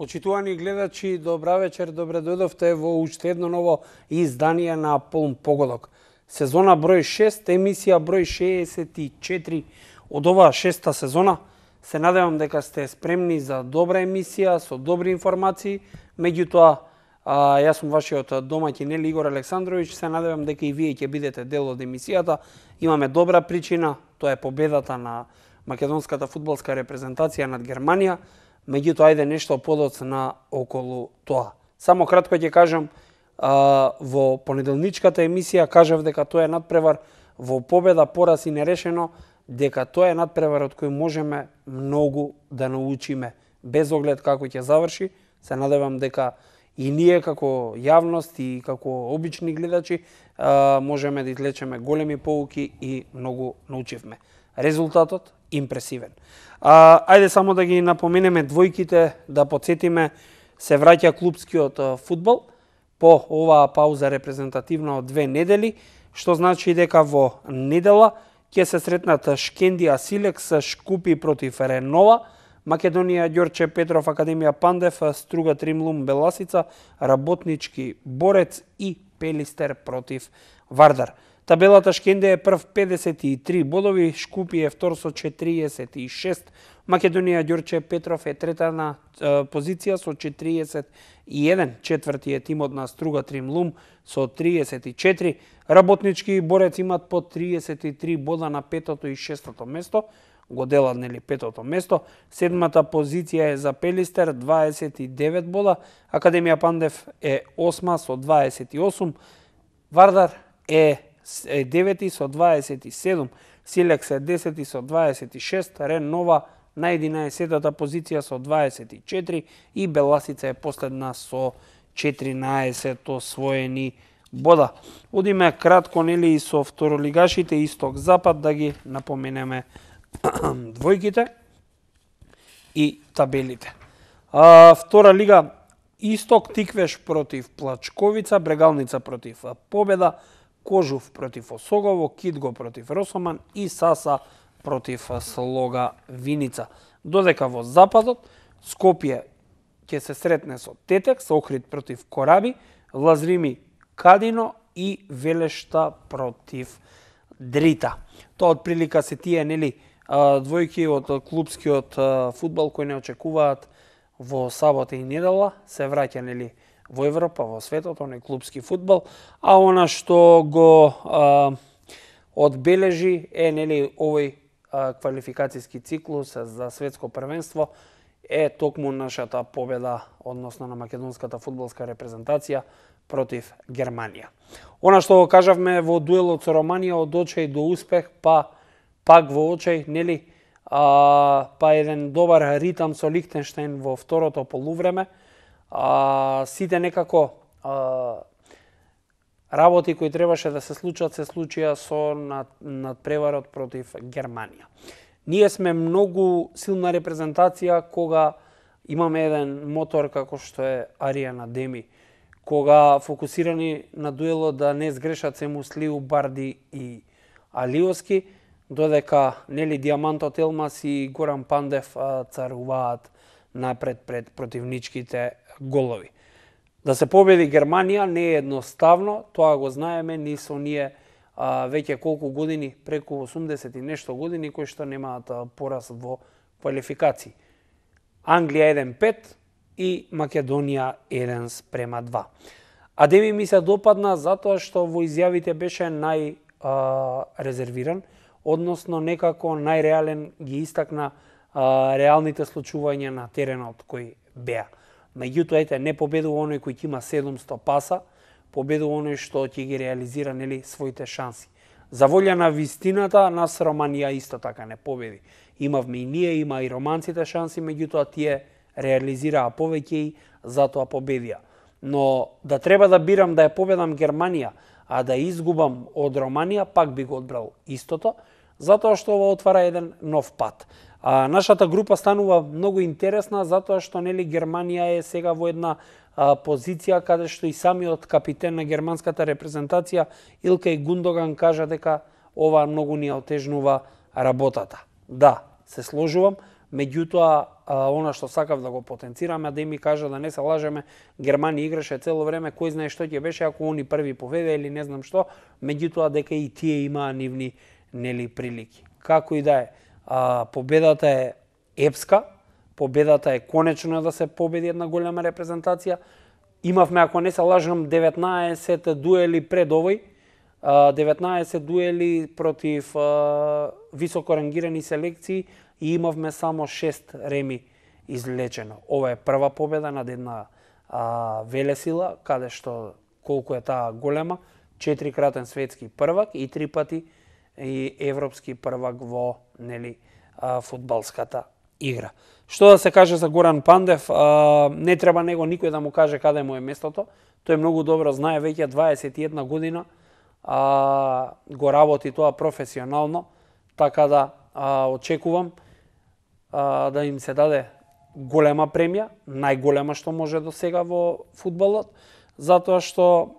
Почитувани гледачи, добра вечер, добре дојдовте во уште едно ново издание на Полн погодок. Сезона број 6, емисија број 64 од оваа шеста сезона. Се надевам дека сте спремни за добра емисија, со добри информации. Меѓутоа, јас сум вашиот домаќин Игор Александрович, се надевам дека и вие ќе бидете дел од емисијата. Имаме добра причина, тоа е победата на македонската фудбалска репрезентација над Германија. Меѓутоа, ајде нешто подоцна околу тоа. Само кратко ќе кажам, во понеделничката емисија кажав дека тоа е надпревар во победа, пораз и нерешено, дека тоа е надпревар од кој можеме многу да научиме, без оглед како ќе заврши. Се надевам дека и ние како јавност и како обични гледачи можеме да извлечеме големи поуки и многу научивме. Резултатот импресивен. Ајде само да ги напоменеме двојките, да подсетиме, се враќа клупскиот фудбал по оваа пауза репрезентативна од 2 недели, што значи дека во недела ќе се сретнат Шкендија Силекс, Шкупи против Ренова, Македонија Ѓорче Петров, Академија Пандев, Струга Тримлум Беласица, Работнички Борец и Пелистер против Вардар. Табелата Шкендија е прв 53 бодови, Шкупи е втор со 46, Македонија Ѓорче Петров е трета на позиција со 41, четврти е тимот на Струга Тримлум со 34, Работнички Борец имат по 33 бода на петото и шестото место, го делат петото место, седмата позиција е за Пелистер 29 бода, Академија Пандев е осма со 28, Вардар е 9 со 27, Силекс е 10 со 26, Ренова на 11-та позиција со 24 и Беласица е последна со 14 освоени бода. Одиме кратко и со второлигашите Исток-Запад да ги напоменеме двојките и табелите. Втора лига Исток Тиквеш против Плачковица, Брегалница против Победа, Кожув против Осогово, Китго против Росоман и Саса против Слога Виница. Додека во Западот, Скопје ќе се сретне со Тетекс, Охрид против Кораби, Лазрими Кадино и Велешта против Дрита. Тоа од прилика се тие двојки од клупскиот фудбал кои не очекуваат во сабота и недела, се враќа во Европа, во светот, оној клупски фудбал, а она што го одбележи е овој квалификацијски циклус за светско првенство е токму нашата победа, односно на македонската фудбалска репрезентација против Германија. Она што го кажавме во дуелот со Романија, од очај до успех, пак во очај, еден добар ритам со Лихтенштеин во второто полувреме. Сите некако работи кои требаше да се случат, се случија со надпреварот против Германија. Ние сме многу силна репрезентација кога имаме еден мотор како што е Аријан Адеми, кога фокусирани на дуелот да не сгрешат се Муслиу, Барди и Алиоски, додека Диамантот Елмас и Горан Пандев царуваат напред пред противничките голови. Да се победи Германија не е едноставно, тоа го знаеме, ни со ние веќе колку години, преку 80 и нешто години, кои што немаат пораз во квалификации. Англија 1-5 и Македонија 1-2. Адеми ми се допадна затоа што во изјавите беше резервиран, односно некако најреален ги истакна реалните случувања на теренот кои беа. Меѓутоа, не победува оној кој има 700 паса, победува оној што ќе ги реализира своите шанси. За волја на вистината, нас Романија исто така не победи. Имавме и ние, има и романците шанси, меѓутоа тие реализираа повеќе и затоа победија. Но да треба да бирам да ја победам Германија, а да изгубам од Романија, пак би го одбрал истото, затоа што ова отвара еден нов пат. Нашата група станува многу интересна, затоа што Германија е сега во една позиција каде што и самиот капитен на германската репрезентација Илкај Гундоган кажа дека ова многу ни отежнува работата. Да, се сложувам, меѓутоа она што сакав да го потенцираме, да ми кажа да не се лажеме, Германија играше цело време, кој знае што ќе беше ако они први поведе или не знам што, меѓутоа дека и тие имаа нивни прилики. Како и да е, победата е епска, победата е конечно да се победи една голема репрезентација. Имавме, ако не се лажам, 19 дуели пред овој, 19 дуели против високо рангирани селекции и имавме само 6 реми излечено. Ова е прва победа над една велесила, каде што колку е таа голема, 4-кратен светски првак и 3 пати и европски првак во фудбалската игра. Што да се каже за Горан Пандев, не треба него никој да му каже каде му е местото. Тој многу добро знае, веќе 21 година го работи тоа професионално, така да очекувам да им се даде голема премија, најголема што може до сега во фудбалот, затоа што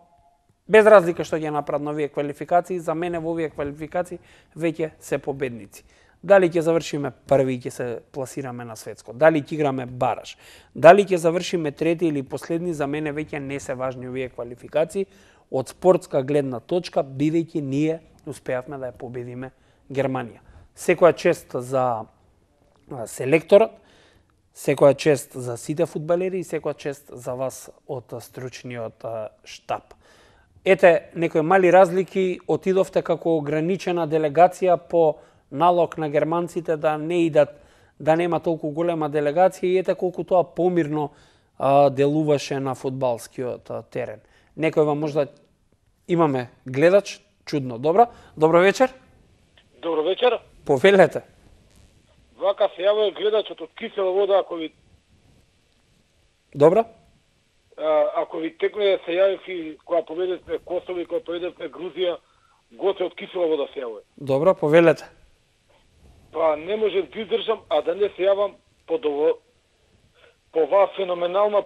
без разлика што ќе направат на овие квалификации, за мене во овие квалификации веќе се победници. Дали ќе завршиме први и ќе се пласираме на светско, дали ќе играме бараш, дали ќе завршиме трети или последни, за мене веќе не се важни овие квалификации од спортска гледна точка, бидејќи ние успеавме да ја победиме Германија. Секоја чест за селекторот, секоја чест за сите фудбалери и секоја чест за вас од стручниот штаб. Ете, некои мали разлики, отидовте како ограничена делегација по налог на германците да не идат, да нема толку голема делегација и ете колку тоа помирно делуваше на фудбалскиот терен. Некој вам можда имаме гледач, чудно, добро вечер. Добро вечер. Повелете. Вака се јавува гледачот од Кисела вода, ако ви... Добро. Ако ви текне се јавив и кога победевме Косово и кога победевме Грузија, Гоце од Кисела вода се јавува. Добро, повелете. Па не можев да издржам, а да не се јавам по вас феноменална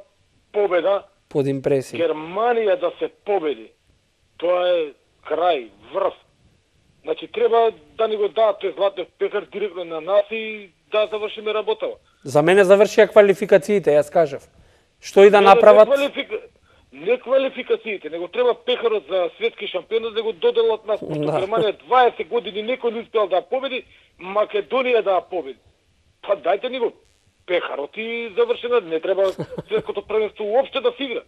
победа. Под импресија. Германија да се победи. Тоа е крај, врв. Значи треба да ни го дадат тој златен пехар директно на нас и да завршиме работава. За мене завршија квалификациите, јас кажав. Што и да направат? Не квалификациите, него треба пехарот за светски шампионот да го доделат нас, пошто Германија 20 години некој не успел да победи, Македонија да победи. Па дајте ни го пехарот и завршено, не треба светското првенство уопште да се игра.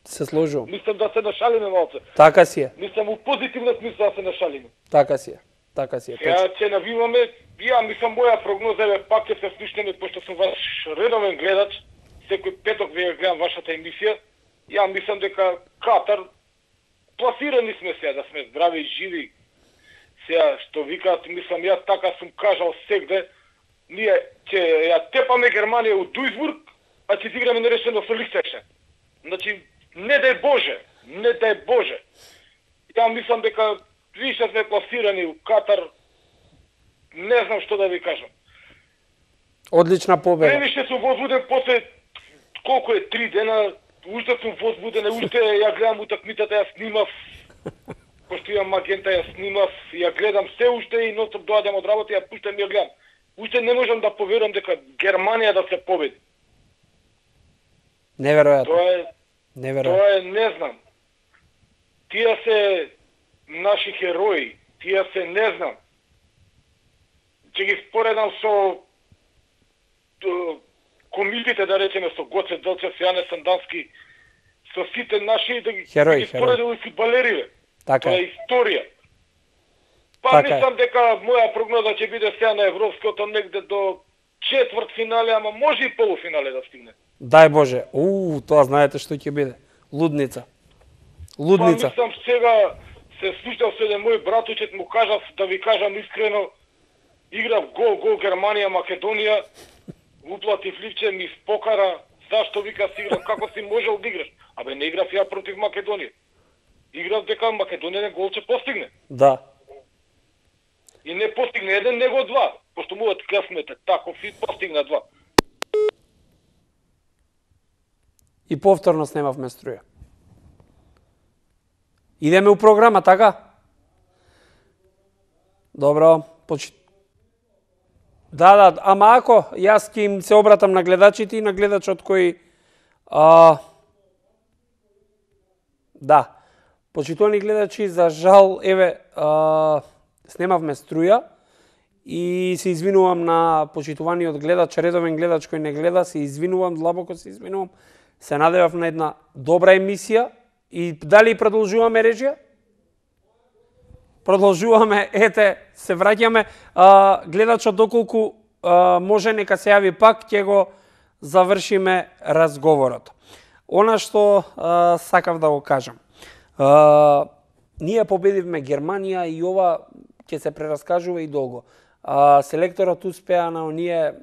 Се сложувам. Мислам да се нашалиме малце. Така си е. Мислам у позитивна смисла да се нашалиме. Така си е. Така си е. Сега ќе навиваме, ја мислам моја прогноза е пак ќе се слушнеме, пошто сум ваш редовен гледач, секој петок ве гледам вашата емисија. Ја мислам дека Катар пласирани сме сега, да сме здрави и живи. Сега што викаат, мислам ја така сум кажал сегде, ние ќе ја тепаме Германија у Дујсбург, а ќе играме нерешено со Лихтенштеин. Значи не дај Боже, не дај Боже. Ја мислам дека више сме пласирани у Катар, не знам што да ви кажам. Одлична победа. Превише сум возбуден после колку е 3 дена, уште сум возбуден, уште ја гледам утакмицата, ја снимав, пошто имам агента, ја снимав, ја гледам се уште и ностоп доаѓам од работа, ја пуштам и ја гледам. Уште не можам да поверувам дека Германија да се победи. Неверојатно. Тоа е, не знам. Тие се наши херои, тие се, не знам. Ќе ги споредам со комитите, да речеме, со Гоце Делчев, Јане Сандански, со сите наши, да ги споредам и фудбалериве. Така. Тоа е историја. Па мислам дека моја прогноза ќе биде сега на европското негде до четврт финале, ама може и полуфинале да стигне. Дај Боже. Тоа знаете што ќе биде. Лудница. Лудница. Па мислам сега се слушнав со еден мој братучет, му кажав, да ви кажам искрено, играв гол Германија, Македонија, уплатив ливче, ми спокара, зашто вика си играв, како си можел да играш? Абе не играв ја против Македонија. Играв дека Македонија гол ќе постигне. Да. И не постигне еден, него два. Пошто мојот късмет е таков и постигна два. И повторно снемавме струја. Идеме у програма, така? Добро, Да, ама ако јас ќе им се обратам на гледачите и на гледачот кој да, почитувани гледачи, за жал, еве, снемавме струја и се извинувам на почитуваниот гледач, редовен гледач кој не гледа, се извинувам, длабоко се извинувам. Се надевав на една добра емисија и дали продолжуваме режија? Продолжуваме, ете, се враќаме. Гледачот доколку може нека се јави пак, ќе го завршиме разговорот. Она што сакав да го кажам. Ние победивме Германија и ова ќе се прераскажува и долго. Селекторот успеа на оние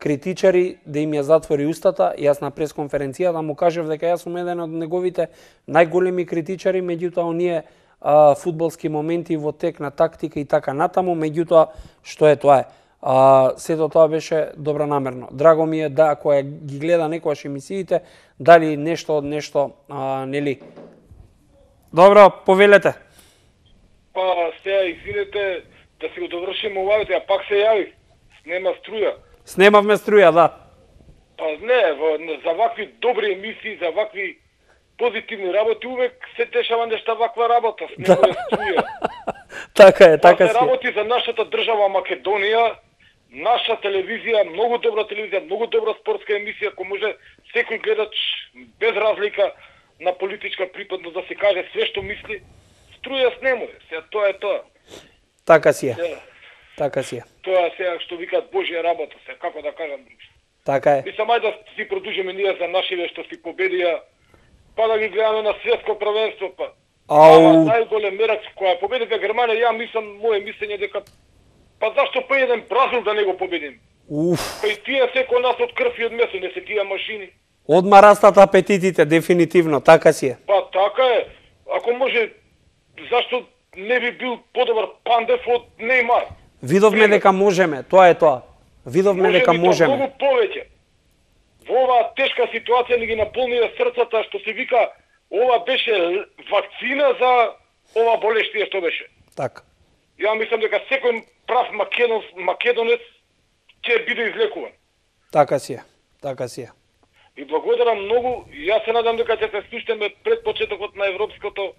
критичари да им ја затвори устата. Јас на пресконференција да му кажав дека јас сум еден од неговите најголеми критичари, меѓутоа оние фудбалски моменти во тек на тактика и така натаму, меѓутоа што е тоа е. Сето тоа беше добронамерно. Драго ми е да која ги гледа некојаш емисиите, дали нешто од нешто, нели? Добро, повелете. Па сега извинете да си го довршим овајте, а пак се јави. Нема струја. Снемавме струја, да. Па не, за вакви добри емисии, за вакви позитивни работи увек се дешава нешта ваква работа, снема струја. Така е, така се работи за нашата држава Македонија, наша телевизија, многу добра телевизија, многу добра спортска емисија, кој може секој гледач без разлика на политичка припадност да се каже све што мисли. Струја снемува, сега тоа е тоа. Така си е. Така си е. Тоа сега што викаат Божја работа, се како да кажам. Така е. Мислам ајде да си продужиме ние за нашиве што си победија, па да ги гледаме на светско првенство, па. Најголем мерак која победива Германија, ја мислам, моје мислење дека па зашто па еден Бразил да не го победим? Па и тие секој нас од крв и од месо, не се тие машини. Одма растат апетитите, дефинитивно, така си е. Па така е. Ако може, зашто не би бил подобар Пандев од Неймар? Видовме дека можеме, тоа е тоа. Видовме дека можеме. Многу повеќе. Во оваа тешка ситуација ни ги наполнија срцата, што се вика, ова беше вакцина за ова болештија што беше. Така. Ја мислам дека секој прав македонец ќе биде излекуван. Така си е. Така си е. И благодарам многу. Јас се надам дека ќе се слушнеме пред почетокот на европското.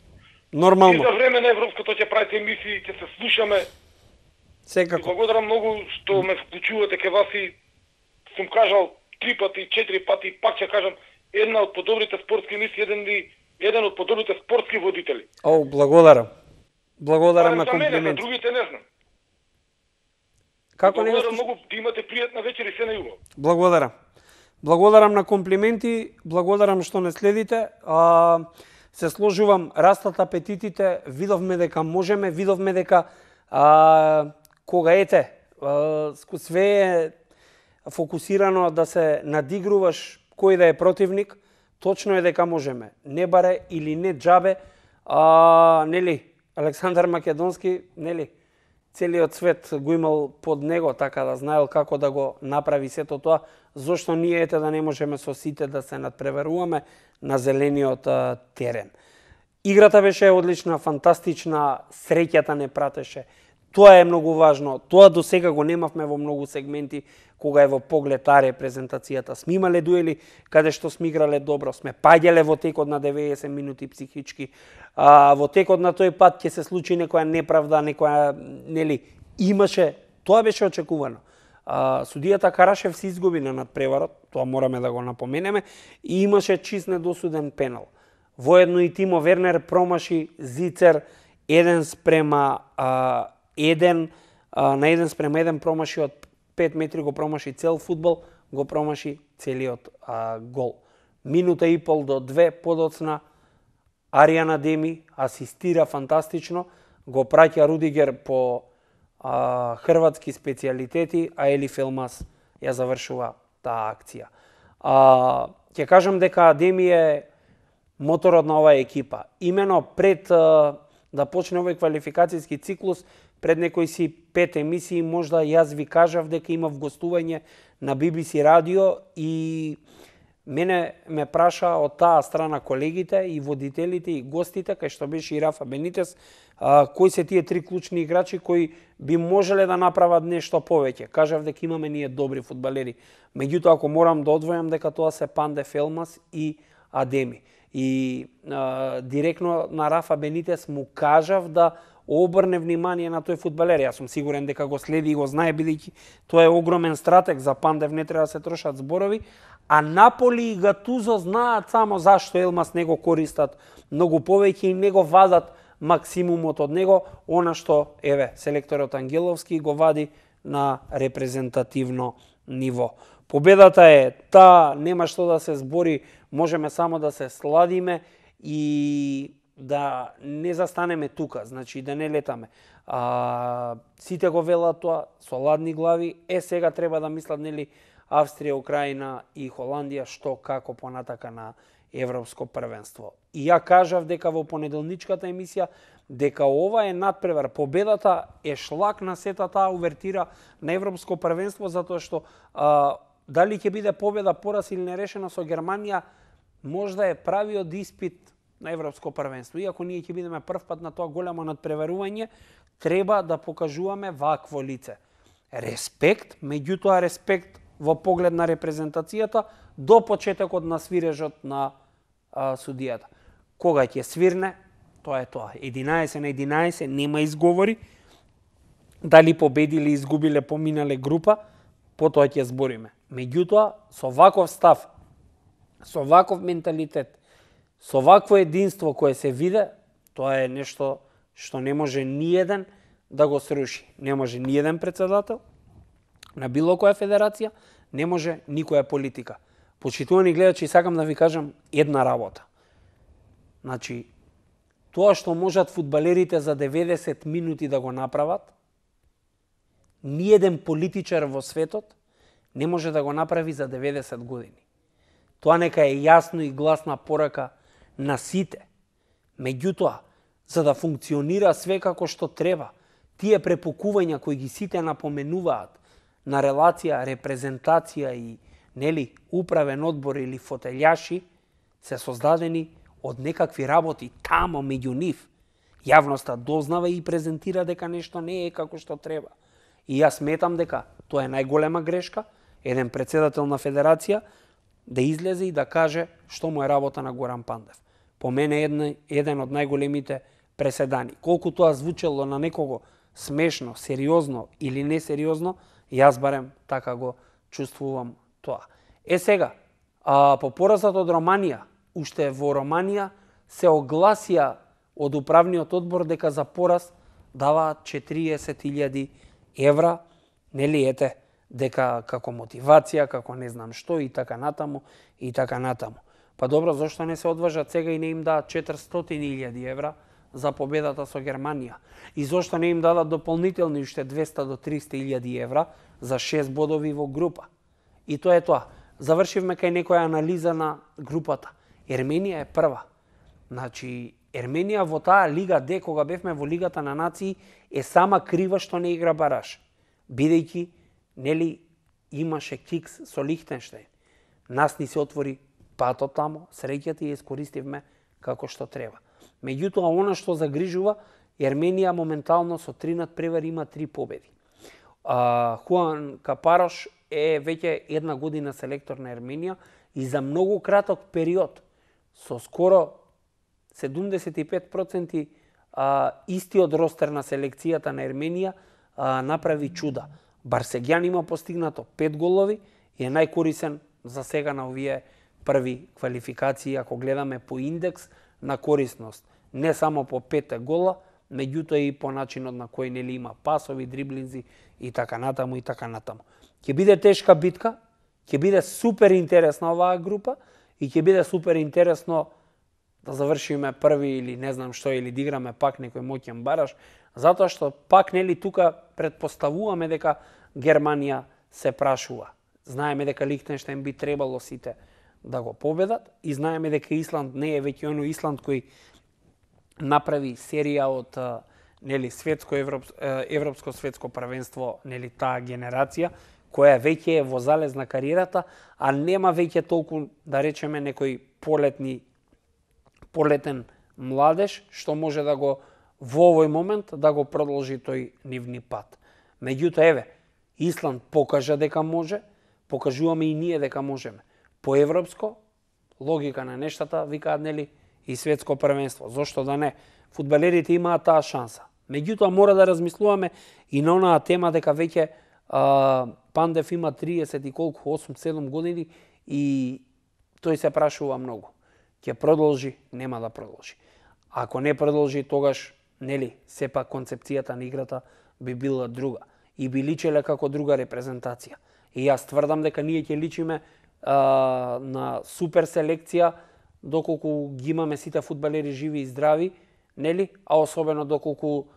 Нормално. И за време на европското ќе правите емисии, ќе се слушаме. Секако. И благодарам многу што ме вклучувате ке вас и сум кажал 3 пати, 4 пати, пак ќе кажам, една од подобрите спортски емисии, еден од подобрите спортски водители. О, благодарам. Благодарам на комплименти. За другите не знам. Како не благодарам многу да имате пријатна вечер и се најубаво. Благодарам. Благодарам на комплименти, благодарам што не следите. Се сложувам, растат апетитите, видовме дека можеме, видовме дека кога ете, све е фокусирано да се надигруваш кој да е противник, точно е дека можеме. Не баре или не џабе, нели, Александар Македонски, нели, целиот свет го имал под него, така да знаел како да го направи сето тоа, зошто ние ете да не можеме со сите да се надпреваруваме на зелениот терен. Играта беше одлична, фантастична, среќата не пратеше. Тоа е многу важно. Тоа до сега го немавме во многу сегменти, кога е во поглед таа репрезентацијата. Сме имале дуели каде што сме играле добро, сме паѓале во текот на 90 минути психички. Во текот на тој пат ќе се случи некоја неправда, некоја, нели, имаше, тоа беше очекувано. Судијата Карашев се изгуби на надпреварот, тоа мораме да го напоменеме, и имаше чист недосуден пенал. Воедно и Тимо Вернер промаши Зицер 1:1, на 1:1 промаши од 5 метри, го промаши цел фудбал, го промаши целиот гол. Минута и пол до 2 подоцна, Аријана Деми асистира фантастично, го праќа Рудигер по хрватски специјалитети, а Елиф Елмас ја завршува таа акција. Ќе кажам дека Деми е моторот на оваа екипа. Имено пред да почне овој квалификацијски циклус, пред некои си 5 емисии, можда јас ви кажав дека имав гостување на BBC радио и Мене ме праша од таа страна колегите и водителите и гостите, кај што беше и Рафа Бенитес, кои се тие три клучни играчи кои би можеле да направат нешто повеќе. Кажав дека имаме ние добри фудбалери. Меѓутоа, ако морам да одвојам, дека тоа се Пандев, Елмас и Адеми. И директно на Рафа Бенитес му кажав да обрне внимание на тој фудбалер. Јас сум сигурен дека го следи и го знае, бидејќи тоа е огромен стратег. За Пандев не треба да се трошат зборови. А Наполи и Гатузо знаат само зашто Елмас не го користат многу повеќе и не го вадат максимумот од него, она што, селекторот Ангеловски го вади на репрезентативно ниво. Победата е таа, нема што да се збори, можеме само да се сладиме и да не застанеме тука, значи да не летаме. Сите го велат тоа, со ладни глави, сега треба да мислат, нели, Австрија, Украина и Холандија, што како понатака на Европско првенство. И ја кажав дека во понеделничката емисија, дека ова е надпревар. Победата е шлак на сета таа увертира на Европско првенство, затоа што дали ќе биде победа, пораз или нерешено со Германија, можда е правиот испит на Европско првенство. Иако ние ќе бидеме прв пат на тоа големо надпреварување, треба да покажуваме вакво лице. Респект, меѓутоа респект во поглед на репрезентацијата до почетокот на свирежот на судијата. Кога ќе свирне, тоа е тоа. 11 на 11, нема изговори. Дали победи или изгубиле, поминале група, потоа ќе збориме. Меѓутоа, со ваков став, со ваков менталитет, со вакво единство кое се виде, тоа е нешто што не може ниеден да го сруши. Не може ниеден председател на било која федерација, не може никоја политика. Почитувани гледачи, сакам да ви кажам една работа. Значи, тоа што можат фудбалерите за 90 минути да го направат, ниеден политичар во светот не може да го направи за 90 години. Тоа нека е јасно и гласна порака на сите. Меѓутоа, за да функционира све како што треба, тие препукувања кои ги сите напоменуваат на релација, репрезентација и, нели, управен одбор или фотелјаши, се создадени од некакви работи тамо меѓу нив. Јавноста дознава и презентира дека нешто не е како што треба. И јас сметам дека тоа е најголема грешка, еден председател на федерација да излезе и да каже што му е работа на Горан Пандев. По мене еден од најголемите преседани. Колку тоа звучело на некого смешно, сериозно или несериозно, јас барем така го чувствувам тоа. Сега, по поразот од Романија, уште во Романија се огласија од управниот одбор дека за пораз даваат 40.000 евра, нели, ете, дека како мотивација, како не знам што и така натаму, и така натаму. Па добро, зашто не се одважат сега и не им дадат 400.000 евра за победата со Германија? И зашто не им дадат дополнителни уште 200 до 300.000 евра за 6 бодови во група? И тоа е тоа. Завршивме кај некоја анализа на групата. Ерменија е прва. Значи, Ерменија во таа Лига Д, кога бевме во Лигата на нации, е сама крива што не игра бараш. Бидејќи, нели, имаше кикс со Лихтенштејн. Нас ни се отвори патот тамо, среќата ја искористивме како што треба. Меѓутоа, она што загрижува, Ерменија моментално со 3 надпревари има 3 победи. Хуан Капарош е веќе една година селектор на Ерменија и за многу краток период, со скоро 75% истиот ростер на селекцијата на Ерменија направи чуда. Барсегјан има постигнато 5 голови и е најкорисен за сега на овие први квалификации, ако гледаме по индекс на корисност. Не само по 5 гола, меѓутоа и по начинот на кој, нели, има пасови, дриблинзи и така натаму и така натаму. Ќе биде тешка битка, ќе биде супер интересна оваа група и ќе биде супер интересно да завршиме први или не знам што, или да играме пак некој моќен бараш, затоа што пак, нели, тука предпоставуваме дека Германија се прашува. Знаеме дека Лихтенштејн би требало сите да го победат и знаеме дека Исланд не е веќе оној Исланд кој направи серија од, нели, европско светско првенство, нели, таа генерација која веќе е во залез на кариерата, а нема веќе толку, да речеме, некој полетен младеж, што може да го во овој момент да го продолжи тој нивни пат. Меѓутоа, еве, Исланд покажа дека може, покажуваме и ние дека можеме. По европско, логика на нештата, викаат, нели, и светско првенство. Зошто да не? Фудбалерите имаат таа шанса. Меѓутоа, мора да размислуваме и на онаа тема дека веќе Пандев има 30 и колку, 8-7 години и тој се прашува многу. Ќе продолжи, нема да продолжи. Ако не продолжи, тогаш, нели, сепак концепцијата на играта би била друга и би личеле како друга репрезентација. И јас тврдам дека ние ќе личиме на супер селекција доколку ги имаме сите фудбалери живи и здрави, нели, а особено доколку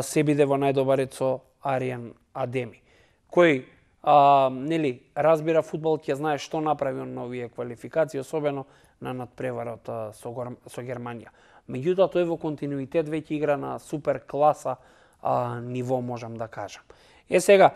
се биде во најдобар ред со Аријан Адеми, кој нели разбира фудбал, ќе знае што направи он на овие квалификации, особено на надпреварот со Германија. Меѓутоа, тој во континуитет веќе игра на супер класа ниво, можам да кажам. Сега,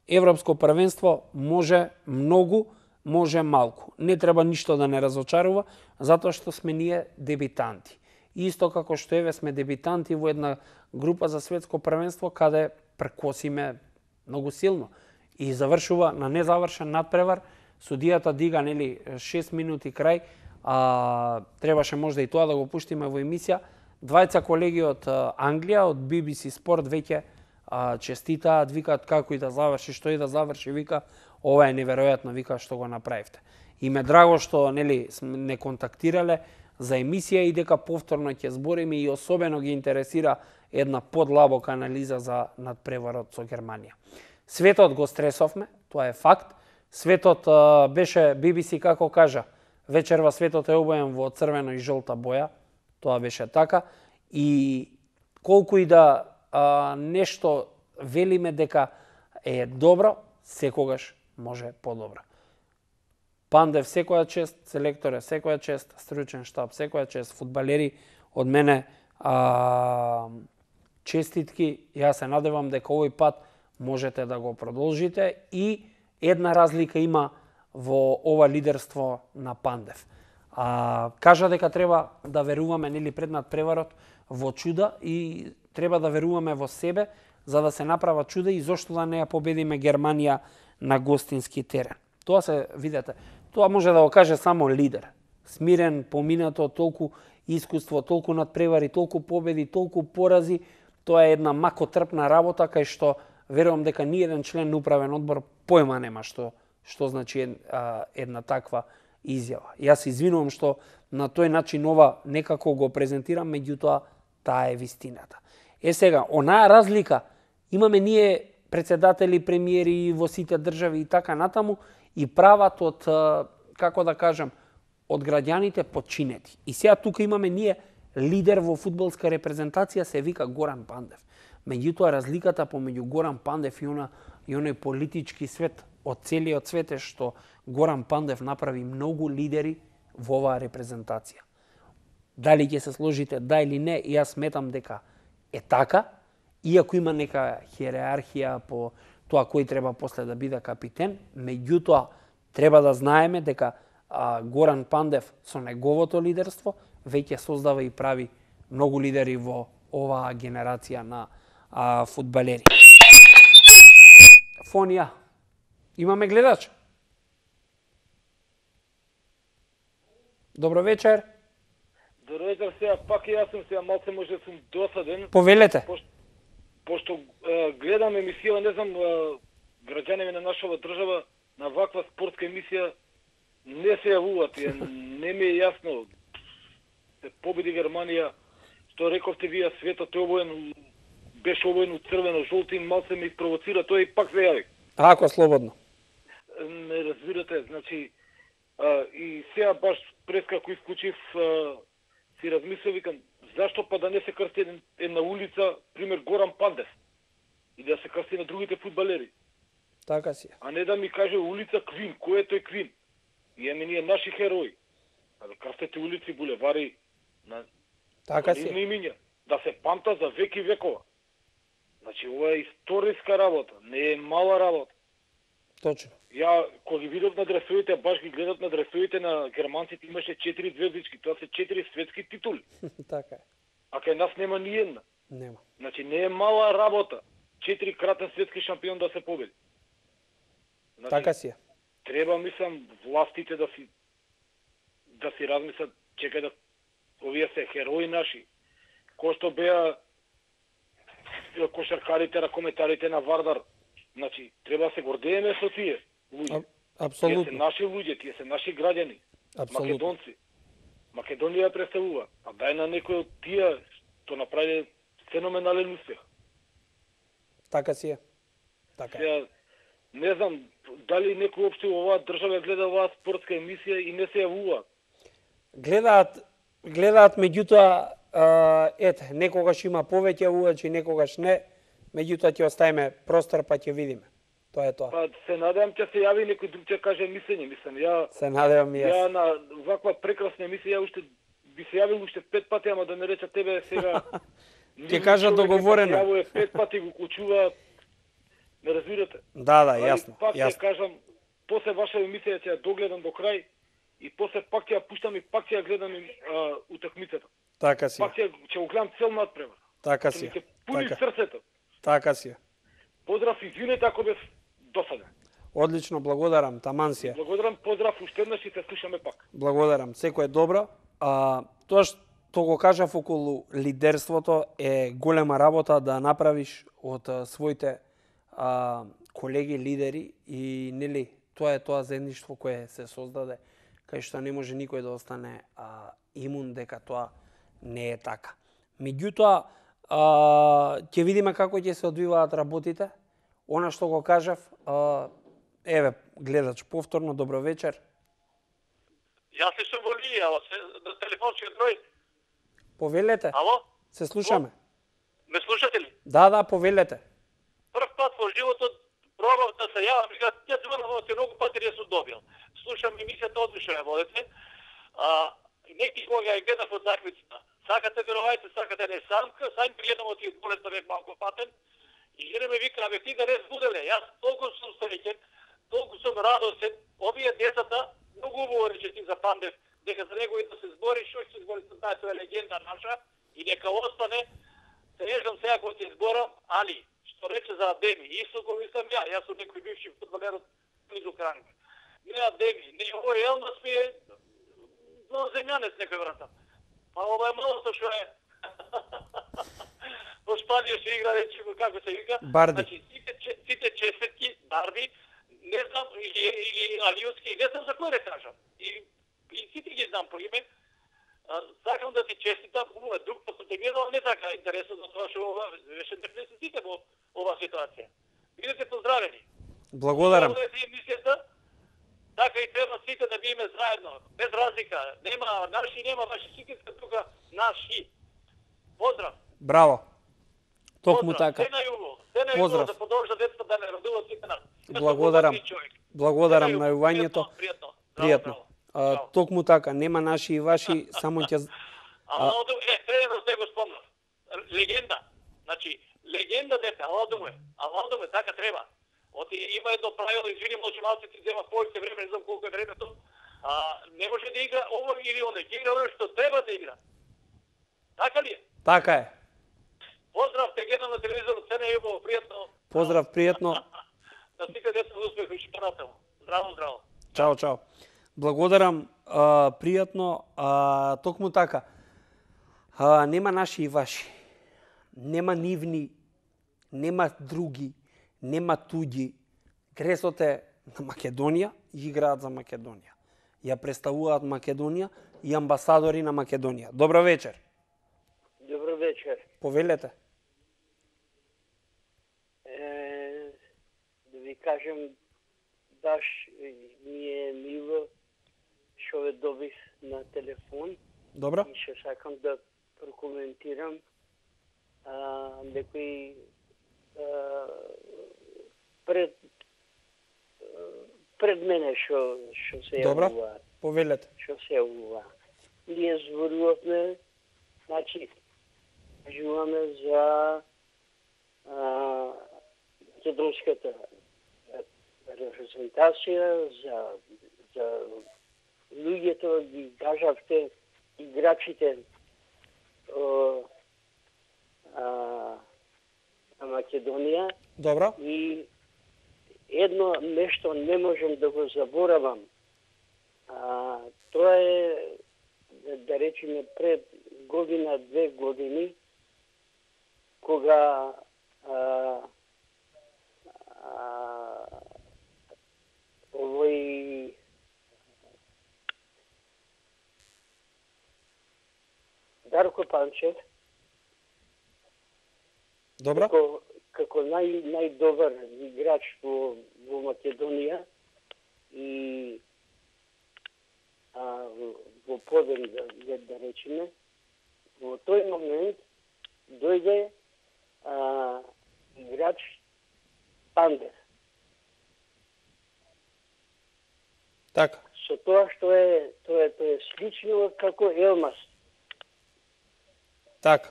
Европско првенство може многу, може малку. Не треба ништо да не разочарува, затоа што сме ние дебитанти. Исто како што еве сме дебитанти во една група за светско првенство, каде прекосиме многу силно и завршува на незавршен надпревар. Судијата дига, нели, 6 минути крај, требаше можда и тоа да го пуштиме во емисија. Двајца колеги од Англија, од BBC Sport веќе честитаат, викаат како и да заврши, што и да заврши, вика, ова е неверојатно, вика, што го направивте. И ме драго што, нели, не контактирале за емисија и дека повторно ќе збориме и особено ги интересира една подлабока анализа за надпреварот со Германија. Светот го стресовме, тоа е факт. Светот беше, BBC како кажа, вечерва светот е обоен во црвено и жолта боја, тоа беше така. И колку и да нешто велиме дека е добро, секогаш може подобро. Пандев секоја чест, селекторе секоја чест, стручен штаб секоја чест, фудбалери од мене честитки. Јас се надевам дека овој пат можете да го продолжите и една разлика има во ова лидерство на Пандев. Кажа дека треба да веруваме, нели, пред надпреварот во чуда и треба да веруваме во себе за да се направат чуда и зошто да не ја победиме Германија на гостински терен. Тоа се, видете, тоа може да го каже само лидер. Смирен, поминато, толку искуство, толку надпревари, толку победи, толку порази, тоа е една макотрпна работа кај што верувам дека ни еден член на управен одбор појма нема што значи една таква изјава. Јас извинувам што на тој начин ова некако го презентирам, меѓутоа таа е вистината. Сега, онаа разлика имаме ние председатели, премиери во сите држави и така натаму и прават од, како да кажам, од граѓаните подчинети. И сега тука имаме ние лидер во фудбалска репрезентација, се вика Горан Пандев. Меѓутоа, разликата помеѓу Горан Пандев и оној политички свет од целиот свет е што Горан Пандев направи многу лидери во оваа репрезентација. Дали ќе се сложите да или не, јас сметам дека е така, иако има нека хиерархија по тоа кој треба после да биде капитен, меѓутоа треба да знаеме дека Горан Пандев со неговото лидерство веќе создава и прави многу лидери во оваа генерација на фудбалери. Фонија. Имаме гледач? Добро вечер. Добро вечер, сега пак и јас сум сега малце може сум досаден. Повелете. Пошто гледам емисија, не знам, граѓаните на нашава држава на ваква спортска емисија не се јавуваат, не ми е јасно. Се победи Германија, што рековте вие, светот е обоен, беше обоен од црвено, жолти, малце ме провоцира, тој и пак се јави. Ако слободно. Не разбирате, значи, и сега баш прескако исклучив, си размислив, викам, зашто па да не се крсти една улица, пример Горан Пандев, и да се крсти на другите фудбалери. Така си. А не да ми каже улица Квин, кој е тој Квин? И ние наши херои. Да крстете улици, булевари, на така си. Имиња, да се памта за веки векова. Значи, ова е историска работа, не е мала работа. Точно. Ја кога ги видов на дресовите, баш ги гледав на дресовите на германците, имаше 4 звездички, тоа се 4 светски титули. Така е. А кај нас нема ни една. Нема. Значи не е мала работа 4-кратен светски шампион да се победи. Значи, Така си е. треба, мислам, властите да си размислат, чекај да овие се херои наши, кои што беа кошаркарите, ракометарите на Вардар. Значи, треба да се гордееме со тие луѓе. Тие се Апсолутно. наши луѓе, тие се наши граѓани, Апсолутно. македонци. Македонија ја представува. А дај на некој од тие што направи феноменален успех. Така си е. Така е. Сега, не знам, дали некој општо во оваа држава гледа оваа спортска емисија и не се јавува. Гледаат, меѓутоа, ете, некогаш има повеќе увачи, некогаш не, меѓутоа ќе оставиме простор па ќе видиме. Тоа е тоа. Па се надевам ќе се јави некој друг ќе каже мислење, мислам. Се надевам и Ја јас. на ваква прекрасна емисија уште би се јавил уште 5 пати, ама да не рече тебе сега. Ќе кажа договорено. Јавува 5 пати го клучува. Не разбирате? Да, Али јасно, пак ќе јасно. кажам, после ваша емисија ќе ја догледам до крај и после пак ќе ја пуштам и пак ќе ја гледам утакмицата. Така си е. Пак ќе го гледам цел надпревар. Така Што си ми е. ќе пуни Така. срцето. Така си е. Поздрав, извинете ако бев досаден. Одлично, благодарам, таман си е. Благодарам, поздрав уште еднаш и се слушаме пак. Благодарам, секој е добро. Тоа што го кажав околу лидерството е голема работа да направиш од своите колеги лидери и нели тоа е тоа заедништво кое се создаде, кај што не може никој да остане имун дека тоа не е така. Меѓутоа, ќе видиме како ќе се одвиваат работите. Она што го кажав, еве, гледач, повторно, добро вечер. Јас ли сум во линија, на телефонскиот број. Повелете, Ало? се слушаме. Ме слушате ли? Да, повелете. Прв пат во животот пробав да се јавам, ја звонам те многу пати не сум добил. Слушам емисијата, одлично ја водите. Неки кога ја гледав од такмицата. Сакате верувајте, сакате не самка, сајм гледам од тие болест да бев малку патен. И жена ме вика, абе ти да не збуделе. Јас толку сум среќен, толку сум радосен. Овие децата многу убаво рече ти за Пандев, дека за него и да се збори, што ќе се збори со таа, тоа е легенда наша и нека остане. Се ежам сега кога ќе зборам, али што рече за Адеми, исто го мислам јас сум некој бивши фудбалер од близу Кранг. Не Адеми, не овој Елмас ми е земјанец некој врата. Па ова е малото што е. Во Шпанија се игра, речемо, како се вика. Барди. Значи, сите честитки, Барди, не знам, или Алиуски, не знам за кој да кажам. И сите ги знам по име. Сакам да ти честитам, хубаво е, друг пат те гледал, не така интересно за тоа што беше не се сите во ова ситуација. Бидете поздравени. Благодарам. Ова е емисијата, така и треба сите да биеме заедно, без разлика. Нема наши, нема ваши, сите се тука наши. Поздрав. Браво. Токму Поздрав. така. Се на југо. Се на југо Поздрав. да продолжат децата да не радуват сите нас. Благодарам. Благодарам Се на југо. јувањето. Пријатно. Пријатно. Браво. Токму така, нема наши и ваши, само ќе Алалду, тренерот не го спомнав. Легенда. Значи, легенда дете, Алалду е, така треба. Има едно правило, извини, може малце ти зема повеќе време, не знам колку е времето. Не може да игра ово или оно, ќе игра оно што треба да игра. Така ли е? така е. Поздрав, те гледам на телевизорот, се на југо, пријатно. Поздрав, пријатно. Да сите деца успех и шпарателно. Здраво, здраво. Чао, чао. Благодарам, пријатно, токму така. Нема наши и ваши. Нема нивни, нема други, нема туѓи. Гресот е на Македонија и играат за Македонија. Ја представуваат Македонија и амбасадори на Македонија. Добро вечер. Добро вечер. Повелете. Да ви кажем, баш ми е мило што ве добив на телефон Добро? и што сакам да прокоментирам некои пред мене што се Добро. јавуваат. Повелете. Што се јавува. Ние зборувавме, значи, кажуваме за македонската репрезентација, за луѓето ги кажавте, играчите на Македонија. Добро. И едно нешто не можам да го заборавам. Тоа е, да речеме, пред година, 2 години, кога овој Дарко Панчев, Добро. како најдобар играч во Македонија и во поден, да речеме, во тој момент дојде играч Пандев. Така. Со тоа што тоа е слично како Елмас, Така.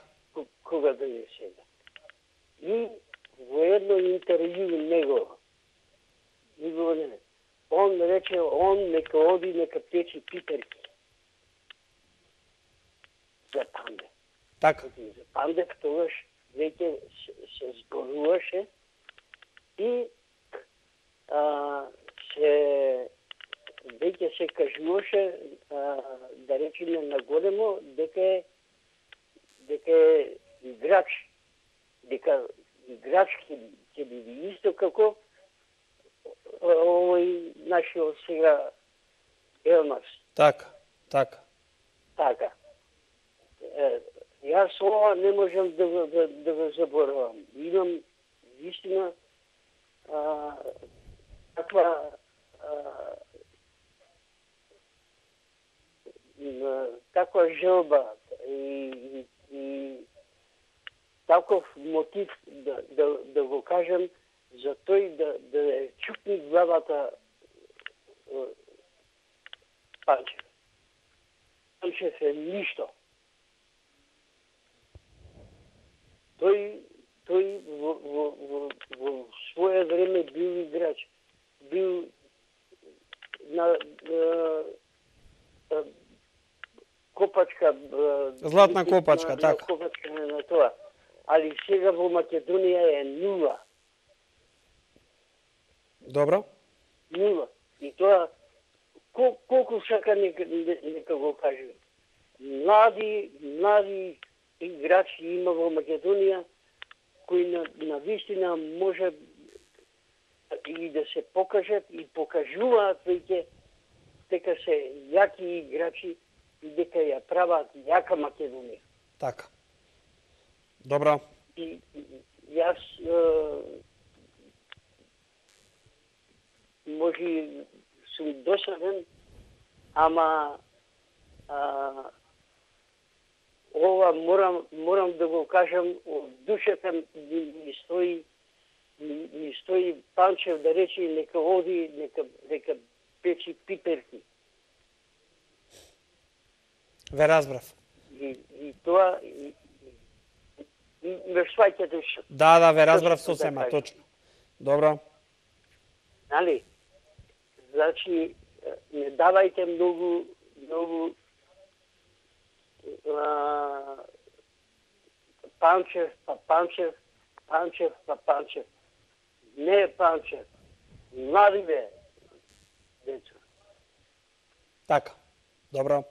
кога дојде сега. И во едно интервју он рече, нека оди, нека печи пиперки за Пандев. Така. За Пандев тогаш веќе се зборуваше и веќе се кажуваше, да речеме на големо, дека е играч, дека играч ќе биде исто како овој нашиот сега Елмас. Така. Така. Така. Јас ова не можам да го заборавам. Имам вистина таква желба и таков мотив да го кажем за тој да чукни главата Панчев. Панчев е ништо. Тој во свое време бил играч. Бил на копачка, Златна копачка, така. Копачка на тоа. Али сега во Македонија е нула. Добро. Нула. И тоа, колку сака нека го кажем. Млади играчи има во Македонија, кои на вистина може и да се покажат и покажуваат веќе дека се јаки играчи и дека ја прават јака Македонија. Така. Добро. И јас може сум досаден, ама ова морам да го кажам, од душата ми стои Панчев да рече нека оди, нека печи пиперки. Ве разбрав. И тоа ме сваќате што. Да, ве разбрав сосема, точно. Добро. Нали? Значи, не давајте многу Панчев. Не е Панчев. Млади бе, деца. Така. Добро.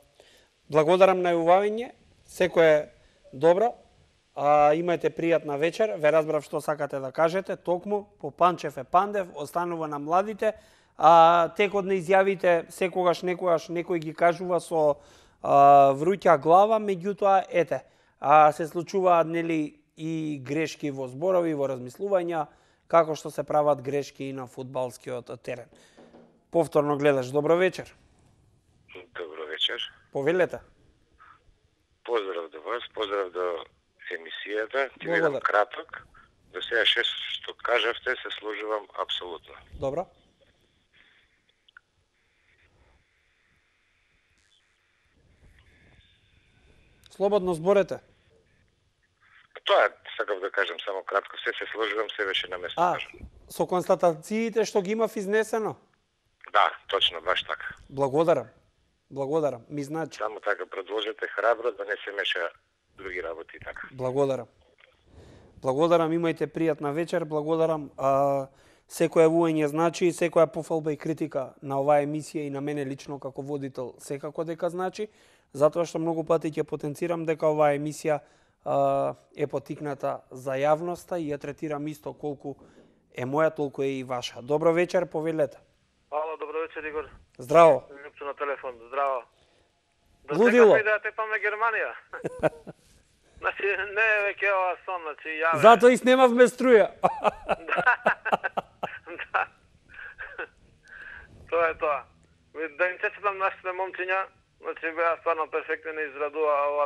Благодарам на јавување. Секој е добро. Имајте пријатна вечер. Ве разбрав што сакате да кажете. Токму по Панчев е Пандев, останува на младите. Текот на изјавите секогаш некој ги кажува со вруќа глава, меѓутоа ете, се случуваат нели и грешки во зборови, во размислувања, како што се прават грешки и на фудбалскиот терен. Повторно гледаш. Добро вечер. Добро вечер. Повелете. Поздрав до вас, поздрав до емисијата. Ти Благодарам. видам краток. До сега што кажавте се служувам апсолутно. Добро. Слободно зборете. Тоа сакав да кажам само кратко, се сложувам, се беше на место. со констатациите што ги имав изнесено? Да, точно, баш така. Благодарам. Благодарам. Ми значи. Само така продолжете храбро да не се меша други работи и така. Благодарам. Благодарам, имајте пријатна вечер. Благодарам. Секоја јавување значи и секоја пофалба и критика на оваа емисија и на мене лично како водител секако дека значи, затоа што многу пати ќе потенцирам дека оваа емисија е потикната за јавноста и ја третирам исто колку е моја, толку е и ваша. Добро вечер, повелете. Ало, добро вечер, Игор. Здраво. Лјупчо на телефон, здраво. Лудило. Да тепаме Германија. Значи, не е веќе ова сон, значи, јаве. Затоа и снемавме струја. Да. Тоа е тоа. Да им честитам нашите момчиња, значи беа стварно перфектни, не израдува ова.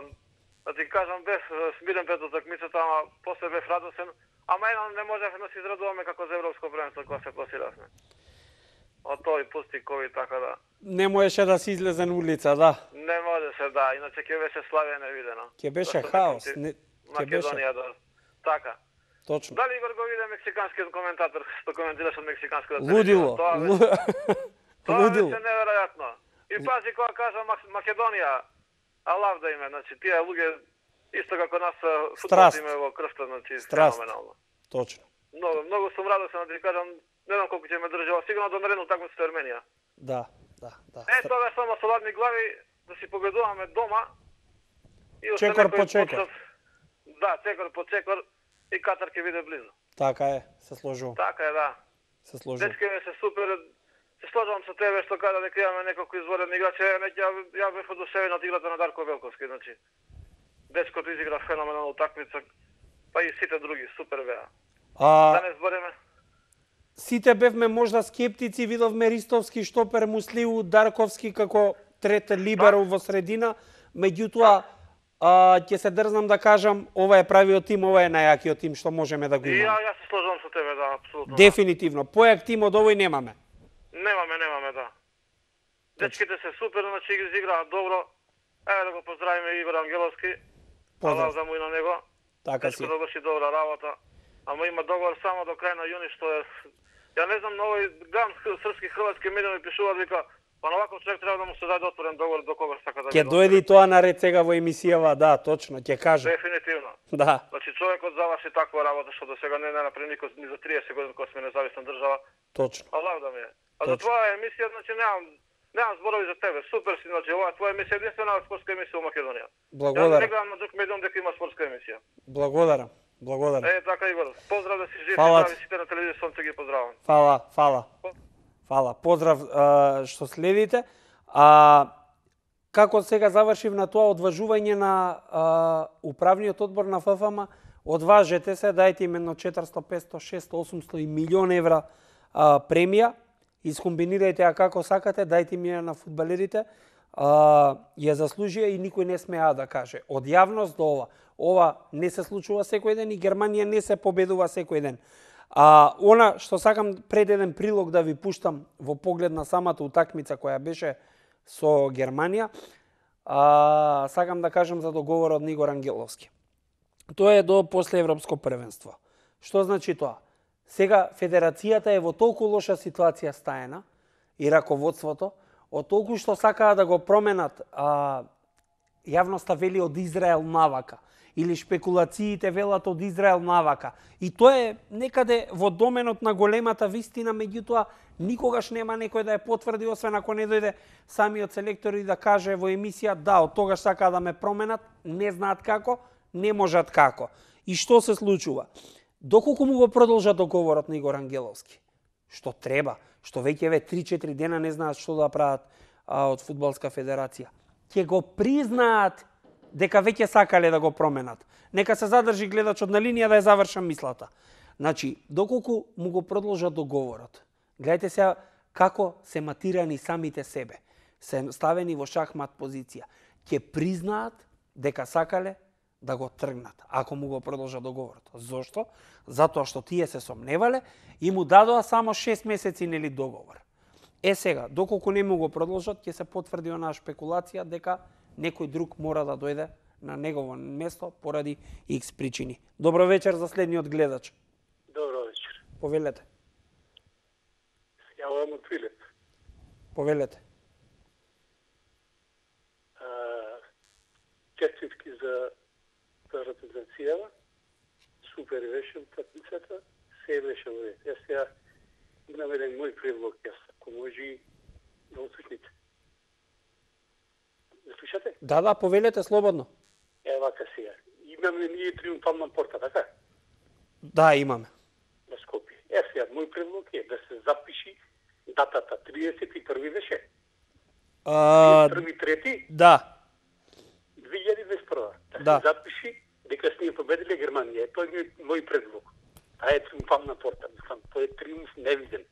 Да ти кажам, бев смирен пред утакмицата, ама после бев радосен. Ама едно не можевме да се израдуваме како за европско првенство кога се пласиравме. Од тој пусти ковид, така да. Не можеше да се излезе на улица, да. Не можеше, да. Иначе ќе беше Славија невидено. Ќе беше хаос. Ќе беше. Македонија, да. Така. Точно. Дали Игор го виде мексиканскиот коментатор што коментираше од мексиканската Лудило. Тоа Лудило. беше неверојатно. И пази кога кажа Македонија, алав да име, значи тие луѓе исто како нас футболот име во крвта, значи феноменално. Точно. Многу сум радосен да ти кажам, не знам колку ќе ме држава, сигурно до наредно такмица со Арменија. Да. Тоа само со ладни глави да си победуваме дома. И чекор по чекор. Да, чекор по чекор. И Катар ќе биде близо. Така е, се сложувам. Така е, да. Се сложувам. Дечке се супер. Се сложувам со тебе што кажа дека имаме неколку изворени играчи. Ја бев одушевен од играта на Дарко Велковски, значи. Дечкото изигра феноменална утакмица, па и сите други супер беа. Да не збориме. Сите бевме можда скептици, видовме Ристовски, Штопер, Муслиу, Дарковски како трет либеро во средина, меѓутоа ќе се дрзнам да кажам, ова е правиот тим, ова е најакиот тим што можеме да го имаме. И јас се сложувам со тебе, да, апсолутно. Дефинитивно. Појак тим од овој немаме. Немаме, да. Дечките се супер, значи ги изиграа добро. Еве да го поздравиме Ивар Ангеловски. Алав да му и на него. Така си. Дечко да врши добра работа. Ама има договор само до крај на јуни, што е... Ја не знам, на овој гледам српски хрватски медиуми пишуваат вика, па на ваков човек треба да му се даде отворен договор до кога сака да ќе дојде и тоа наред сега во емисијава, да, точно, ќе кажа. Дефинитивно. Да. Значи човекот заврши таква работа што до сега не направи никој ни за 30 години кога сме независна држава. Точно. Алав да ми е. А за твоја емисија, значи немам зборови за тебе. Супер си, значи оваа твоја емисија е единствена спортска емисија во Македонија. Благодарам. Ја не гледам на друг медиум дека има спортска емисија. Благодарам. Така Игор. Поздрав да си жив, да сите на телевизија ќе ги поздравам. Фала. Поздрав што следите. Како сега завршив на тоа одважување на управниот одбор на ФФМ, одважете се, дајте им едно 400, 500, 600, 800 и милион евра премија, искомбинирајте ја како сакате, дајте им ја на фудбалерите, ја заслужија и никој не смеа да каже. Од јавност до ова. Ова не се случува секој ден и Германија не се победува секој ден. Она што сакам пред еден прилог да ви пуштам во поглед на самата утакмица која беше со Германија, сакам да кажам за договорот на Игор Ангеловски. Тоа е до после Европско првенство. Што значи тоа? Сега федерацијата е во толку лоша ситуација стаена и раководството, од толку што сакаа да го променат, јавноста вели од Израел навака, или шпекулациите велат од Израел навака. И тоа е некаде во доменот на големата вистина, меѓутоа никогаш нема некој да ја потврди, освен ако не дојде самиот селектор и да каже во емисија, да, од тогаш сакаа да ме променат, не знаат како, не можат како. И што се случува? Доколку му го продолжа договорот на Игор Ангеловски, што треба, што веќе 3-4 дена не знаат што да прават од Фудбалска федерација, ќе го признаат дека веќе сакале да го променат. Нека се задржи гледачот на линија да ја завршам мислата. Значи, доколку му го продолжа договорот, гледайте се како се матирани самите себе, се ставени во шахмат позиција, ќе признаат дека сакале да го тргнат, ако му го продолжа договорот. Зошто? Затоа што тие се сомневале и му дадоа само 6 месеци нели договор. Сега, доколку не му го продолжат, ќе се потврди онаа шпекулација дека некој друг мора да дојде на негово место поради X причини. Добро вечер за следниот гледач. Добро вечер. Повелете. јавам од Прилеп. Повелете. Честитки за репрезентацијава. Супер беше утакмицата. Се беше во ред. Јас сега имам еден мој предлог, јас ако може да услушните. Да слушате? Да, повелете слободно. Вака сега. Имаме ние триумфална порта, така? Да, имаме. На Скопје. Сега, мој предлог е да се запиши датата 31 беше. 1-3? Да. 2021. Да. Се запиши дека сме победиле Германија. Тој е мој предлог. Таа е триумфална порта. Мислам, тој е триумф невиден.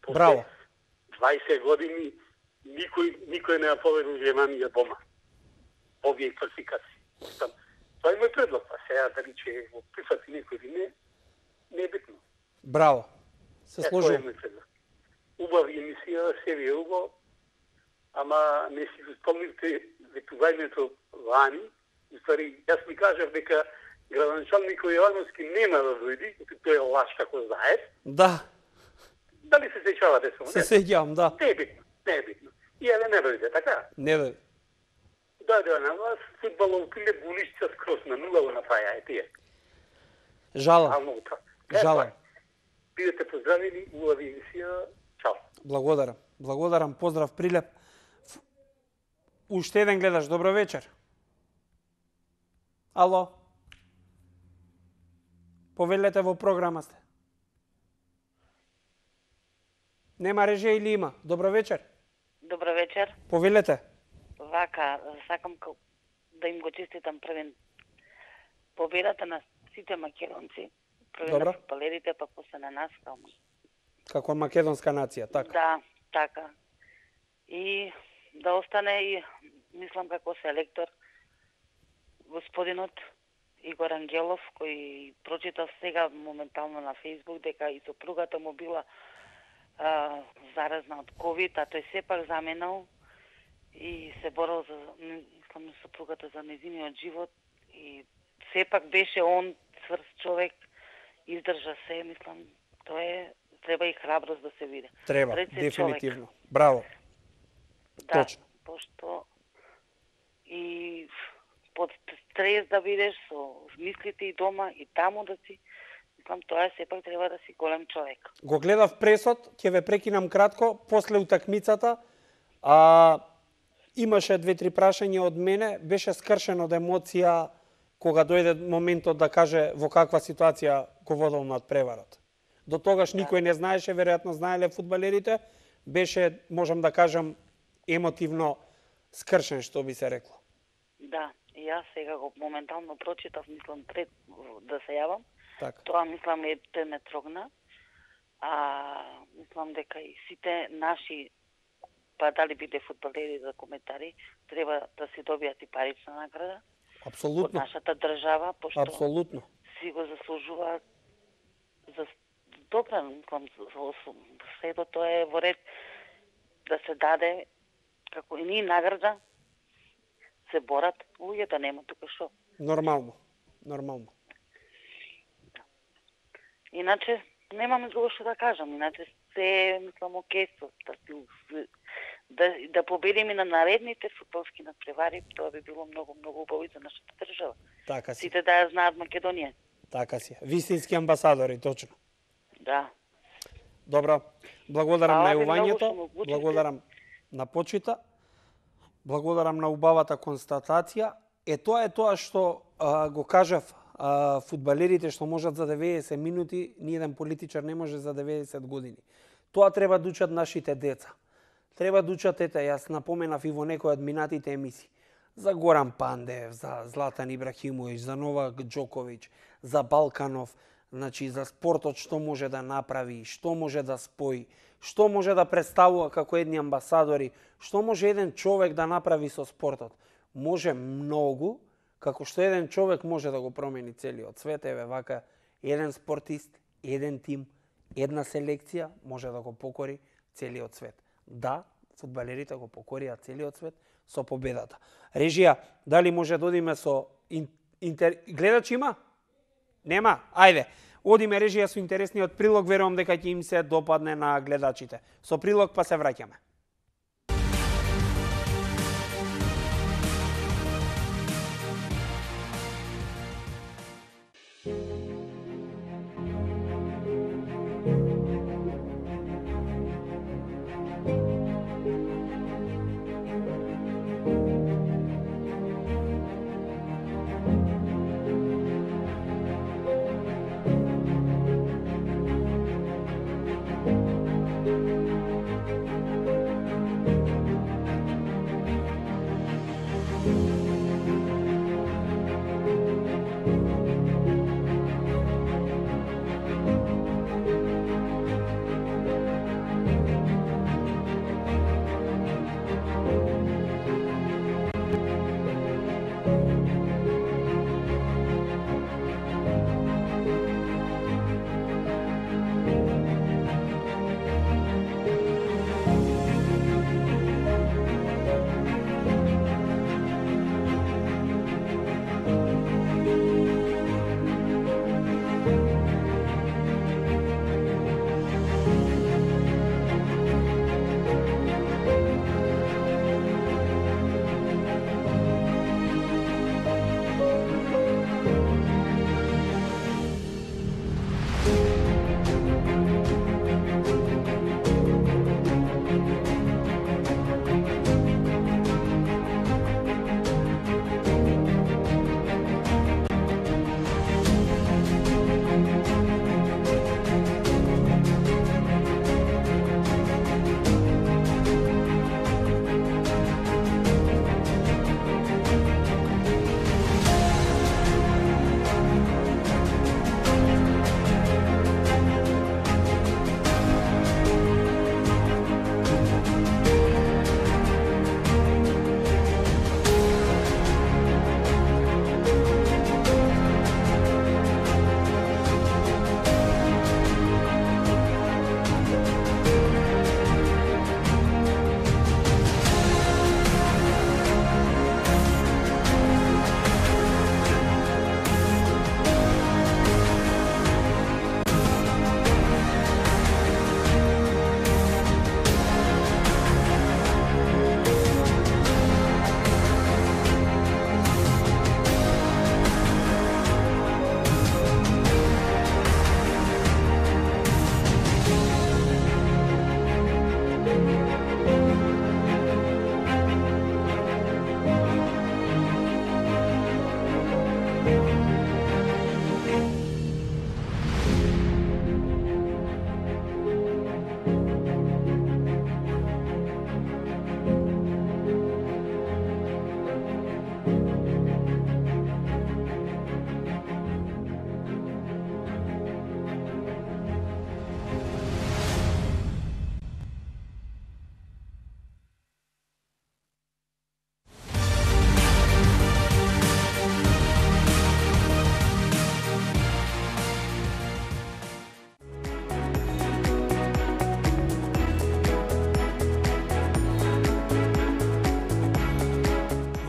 Браво. 20 години никој не ја победил Германија дома. Овие квалификации. Мислам, тоа е мој предлог. А сега дали ќе го прифати некој или не е битно. Браво. Се Тоа е сложувам. мој предлог. Убава емисија, се ви е убаво, ама не си го спомнивте ветувањето лани. Устари, јас ми кажав дека градоначалникот Јовановски нема да дојди, тој е лаш, како знаеш. Да, Дали се сеќавате само? се сеќавам, да. Не е битно, не е битно. И еве не дојде, така? Не да. Дојде на вас, фудбалот Прилеп го уништи скроз на нула го направија, тие. Жалам. Многу така. Жалам. Бидете поздравени, убава емисија. Чао. Благодарам. Благодарам. Поздрав Прилеп. Уште еден гледаш. Добро вечер. Ало. Повелете во програма сте. Нема режија или има? Добро вечер. Добро вечер. Повелете. Вака, сакам да им го честитам првен победата на сите македонци. Првен Добро. на футбалерите, па после на нас. Како македонска нација, така? Да, така. И да остане и, мислам како селектор, господинот Игор Ангелов, кој прочитав сега моментално на Фейсбук дека и сопругата му била заразна од ковид, а тој сепак заменал и се борел за, мислам, сопругата за нејзиниот живот и сепак беше он цврст човек, издржа се, мислам, тоа е, треба и храброст да се види. Треба, Пред се дефинитивно. човек. Браво. Да, Точно. пошто и под стрес да бидеш со мислите и дома и таму да си, мислам, тоа сепак треба да си голем човек. Го гледав пресот, ќе ве прекинам кратко, после утакмицата, имаше 2-3 прашања од мене, беше скршен од емоција кога дојде моментот да каже во каква ситуација го водел над преварот. До тогаш никој не знаеше, веројатно знаеле фудбалерите, беше, можам да кажам, емотивно скршен, што би се рекло. Да, и јас сега го моментално прочитав, мислам, пред да се јавам. Така. Тоа, мислам, тој ме трогна. Мислам дека и сите наши, па дали биде фудбалери за коментари, треба да си добијат и парична награда од Апсолутно. нашата држава, пошто Апсолутно. си го заслужуваат за добра, мислам, сето тоа е во ред да се даде како и ние награда, се борат луѓе да нема тука шо. Нормално. Нормално. Иначе немам друго што да кажам, иначе се мислам окей да победиме на наредните фудбалски надпревари, тоа би било многу убаво и за нашата држава. Така си. Сите да ја знаат Македонија. Така си. Вистински амбасадори, точно. Да. Добро. Благодарам Фала на ви многу што јувањето, ме уклучите. благодарам на почита, благодарам на убавата констатација. Тоа е тоа што го кажав, фудбалерите што можат за 90 минути, ниеден политичар не може за 90 години. Тоа треба да учат нашите деца. Треба да учат, јас напоменав и во некои од минатите емисии, за Горан Пандев, за Златан Ибрахимович, за Новак Џоковиќ, за Балканов, значи за спортот што може да направи, што може да спои, што може да представува како едни амбасадори, што може еден човек да направи со спортот. Може многу, како што еден човек може да го промени целиот свет. Еве вака, еден спортист, еден тим, една селекција може да го покори целиот свет. Да, фудбалерите го покорија целиот свет со победата. Режија, дали може да одиме со гледач има? Нема? Ајде. Одиме режија со интересниот прилог, верувам дека ќе им се допадне на гледачите. Со прилог па се враќаме.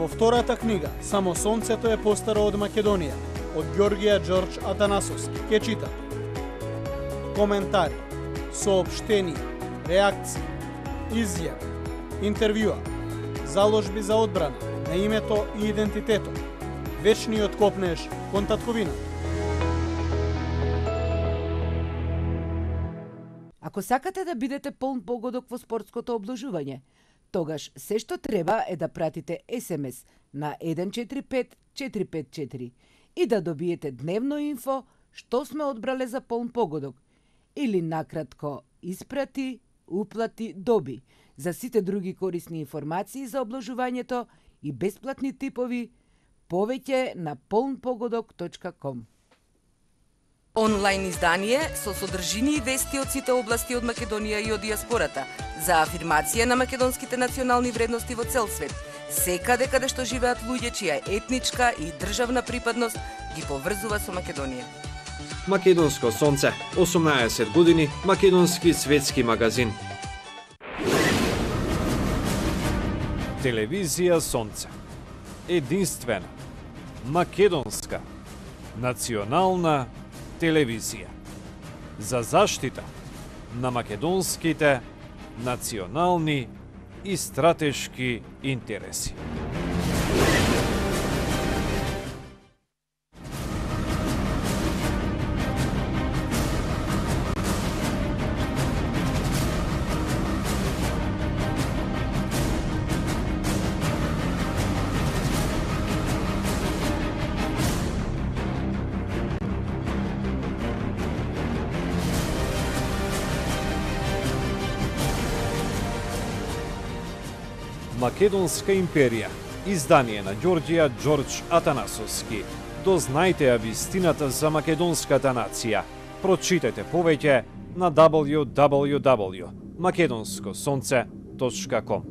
Во втората книга, Само сонцето е постаро од Македонија, од Ѓорѓија Ѓорџ Атанасовски, ке читат коментари, соопштенија, реакции, изјави, интервјуа, заложби за одбрана на името и идентитетот, вечниот копнеж кон татковината. Ако сакате да бидете полн погодок во спортското обложување, тогаш се што треба е да пратите СМС на 145454 и да добиете дневно инфо што сме одбрале за полн погодок или накратко испрати, уплати, доби за сите други корисни информации за обложувањето и бесплатни типови, повеќе на polnpogodok.com. Онлайн издание со содржини и вести од сите области од Македонија и од диаспората за афирмација на македонските национални вредности во цел свет, секаде каде што живеат луѓе чија етничка и државна припадност ги поврзува со Македонија. Македонско сонце, 18 години, македонски светски магазин. Телевизија Сонце. Единствена, македонска, национална, телевизија. За заштита на македонските национални и стратешки интереси. Македонска империја, издание на Ѓорѓија Ѓорџ Атанасовски. Дознајте ја вистината за македонската нација. Прочитете повеќе на www.makedonskosonce.com.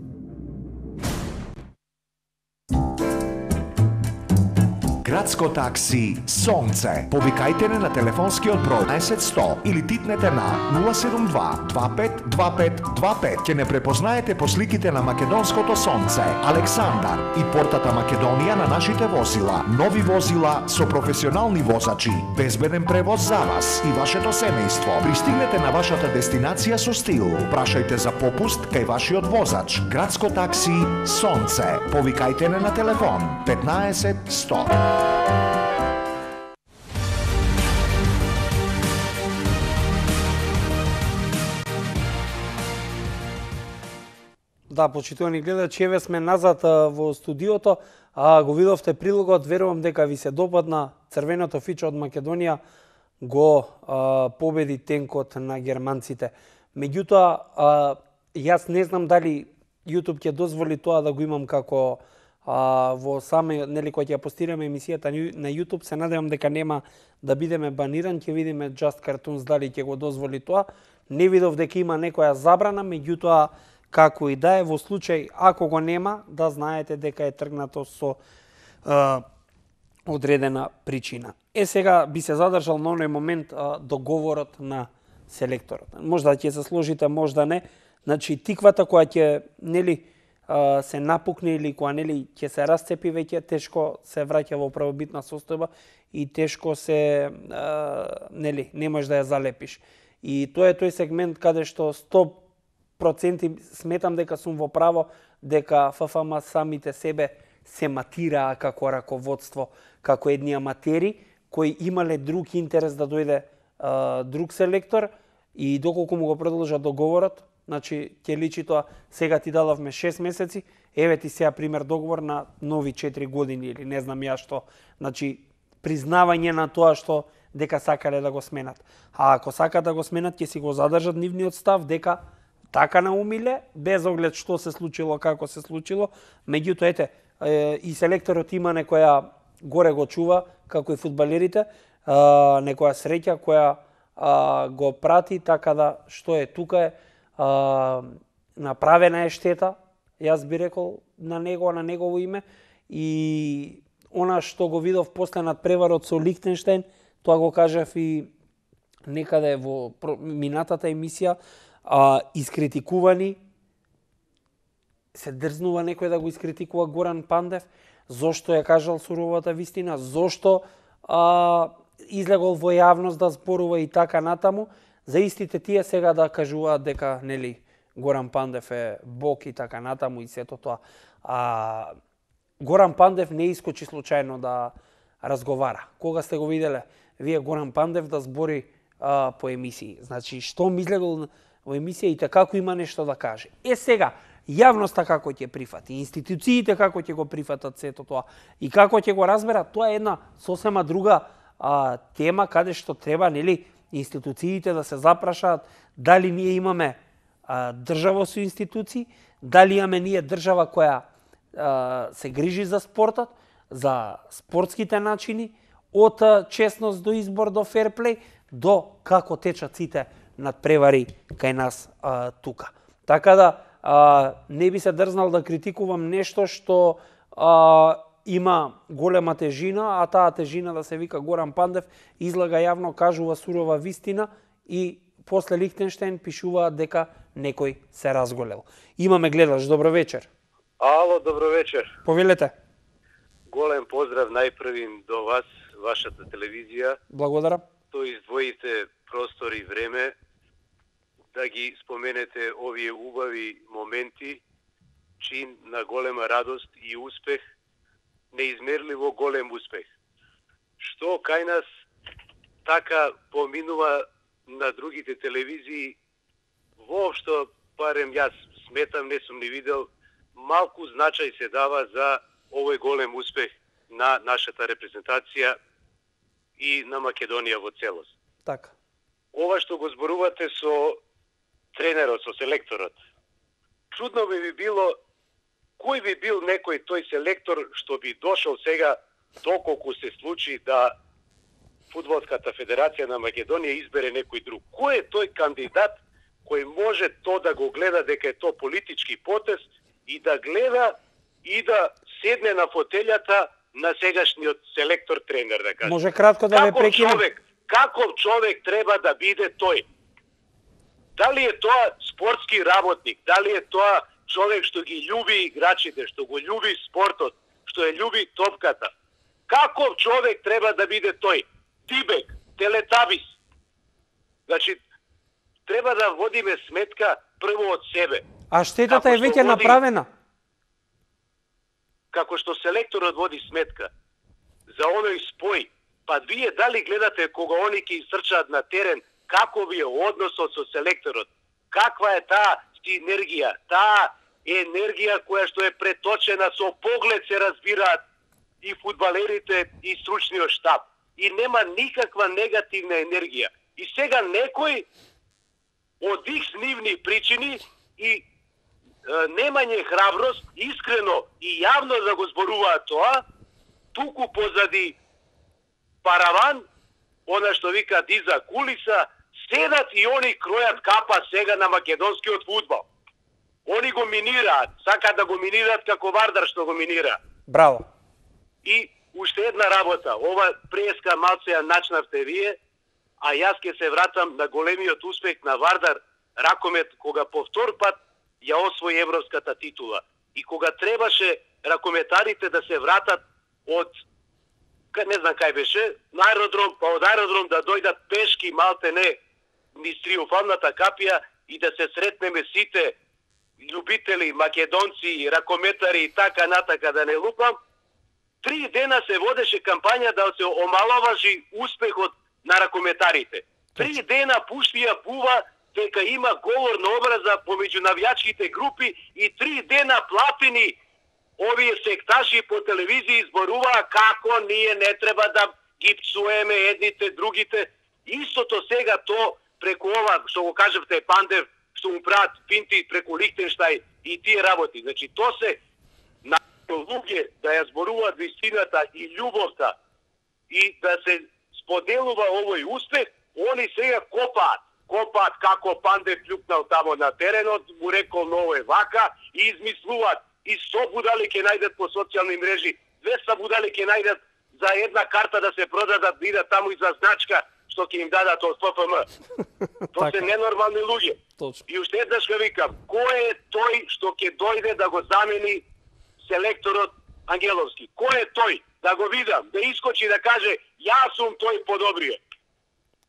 Градско такси Сонце. Повикајте не на телефонскиот број 10100 или титнете на 072 25 25 25. Ќе не препознаете по сликите на македонското Сонце, Александар и портата Македонија на нашите возила. Нови возила со професионални возачи, безбеден превоз за вас и вашето семејство. Пристигнете на вашата дестинација со стил. Прашајте за попуст кај вашиот возач. Градско такси Сонце. Повикајте не на телефон 15 100. Да, почитувани гледачи, еве сме назад во студиото. Го видовте прилогот, верувам дека ви се допадна. Црвеното фиче од Македонија го победи тенкот на германците. Меѓутоа, јас не знам дали YouTube ќе дозволи тоа да го имам како во саме, нели, кога ќе постираме емисијата на YouTube, се надевам дека нема да бидеме баниран, ќе видиме Just Cartoons дали ќе го дозволи тоа. Не видов дека има некоја забрана, меѓутоа, како и да е, во случај, ако го нема, да знаете дека е тргнато со одредена причина. Сега би се задржал на оној момент договорот на селекторот. Можда ќе се сложите, можда не. Значи, тиквата која ќе, нели, се напукне или која, нели, ќе се расцепи веќе, тешко се враќа во правобитна состојба и тешко се, нели, не можеш да ја залепиш. И тоа е тој сегмент каде што 100% сметам дека сум во право, дека ФФМ самите себе се матираа како раководство, како едни аматери, кои имале друг интерес да дојде друг селектор и доколку му го продолжа договорот, значи ќе личи тоа, сега ти дадовме 6 месеци, еве ти сега пример договор на нови 4 години или не знам ја што. Значи, признавање на тоа што дека сакале да го сменат. А ако сакат да го сменат, ќе си го задржат нивниот став дека така наумиле, без оглед што се случило, како се случило. Меѓутоа, ете, и селекторот има некоја горе го чува, како и фудбалерите, некоја среќа која го прати, така да што е тука е, направена е штета, јас би рекол на негово име, и она што го видов после над преварот со Лихтенштеин, тоа го кажав и некаде во минатата емисија, искритикувани, се дрзнува некој да го искритикува Горан Пандев, зошто ја кажал суровата вистина, зошто излегол во јавност да зборува и така натаму, за истите тие сега да кажуваат дека, нели, Горан Пандев е бог и така натаму и сето тоа. Горан Пандев не искочи случајно да разговара. Кога сте го виделе вие Горан Пандев да збори по емисии? Значи, што излегол во емисија и како има нешто да каже. Сега, јавноста како ќе прифати, институциите како ќе го прифатат сето тоа и како ќе го разберат, тоа е една сосема друга тема каде што треба, нели, институциите да се запрашаат дали ние имаме држава со институции, дали имаме ние држава која се грижи за спортот, за спортските начини, од честност до избор до ферплей, до како течат сите надпревари кај нас тука. Така да, не би се дрзнал да критикувам нешто што има голема тежина, а таа тежина да се вика Горан Пандев, излага јавно, кажува сурова вистина и после Лихтенштеин пишуваат дека некој се разголел. Имаме гледач, добро вечер. Ало, добро вечер. Повелете. Голем поздрав најпрвим до вас, вашата телевизија. Благодарам. што издвоите простор и време да ги споменете овие убави моменти, чин на голема радост и успех, неизмерливо голем успех. Што кај нас така поминува на другите телевизии, воопшто, барем јас сметам, не сум ни видел, малку значај се дава за овој голем успех на нашата репрезентација и на Македонија во целост. Така. Ова што го зборувате со тренерот, со селекторот, чудно би било кој би бил некој тој селектор што би дошол сега, доколку се случи да Фудбалската федерација на Македонија избере некој друг. Кој е тој кандидат кој може то да го гледа дека е то политички потез и да гледа и да седне на фотелјата на сегашниот селектор-тренер, да кажем. Може кратко да ве прекинам? Каков човек треба да биде тој? Дали е тоа спортски работник, дали е тоа човек што ги љуби играчите, што го љуби спортот, што ја љуби топката? Каков човек треба да биде тој? Тибек, Телетабис. Значи, треба да водиме сметка прво од себе. А штетата е веќе направена. Како што селекторот води сметка за оној спој, па вие дали гледате кога они ќе изтрчаат на терен, како ви е односот со селекторот? Каква е таа синергија, таа енергија која што е преточена со поглед се разбираат и фудбалерите и стручниот штаб. И нема никаква негативна енергија. И сега некој од нивни причини и немање храброст, искрено и јавно да го зборуваат тоа, туку позади параван, она што вика диза кулиса, седат и они кројат капа сега на македонскиот фудбал. Они го минираат, сакаат да го минираат како Вардар што го минира. Браво. И уште една работа, ова преска малце ја начнавте вие, а јас ќе се вратам на големиот успех на Вардар Ракомет, кога по втор пат ја освои европската титула. И кога требаше ракометарите да се вратат од, не знам кај беше, на аеродром, па од аеродром да дојдат пешки малте не низ триумфалната капија и да се сретнеме сите љубители, македонци, ракометари и така натака да не лупам, 3 дена се водеше кампања да се омаловажи успехот на ракометарите. 3 дена пуштија пува дека има говор на образа помеѓу навијачките групи и 3 дена платени овие секташи по телевизија изборуваа како ние не треба да ги псуеме едните другите. Истото сега то преку ова што го кажавте Пандев, што му прават финти преку Лихтенштајн и тие работи. Значи то се на луѓе да ја зборуваат вистината и љубовта и да се споделува овој успех, они сега копаат како Пандев љупнал тамо на теренот, му рекол ново е вака и измислуваат. И 100 будали ќе најдат по социјални мрежи, 200 будали ќе најдат за една карта да се продадат, да идат таму и за значка што ќе им дадат од ФФМ. Тоа се ненормални луѓе. Точно. И уште еднаш ке викам, кој е тој што ќе дојде да го замени селекторот Ангеловски? Кој е тој? Да го видам, да искочи да каже јас сум тој подобрие.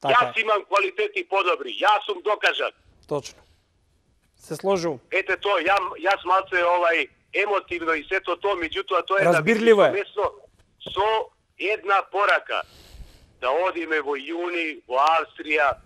Јас имам квалитети подобри, јас сум докажан. Точно. Се сложил. Ете тоа, јас малце емотивно и сето тоа, меѓутоа тоа е разбирливо е. Со една порака да одиме во јуни во Австрија,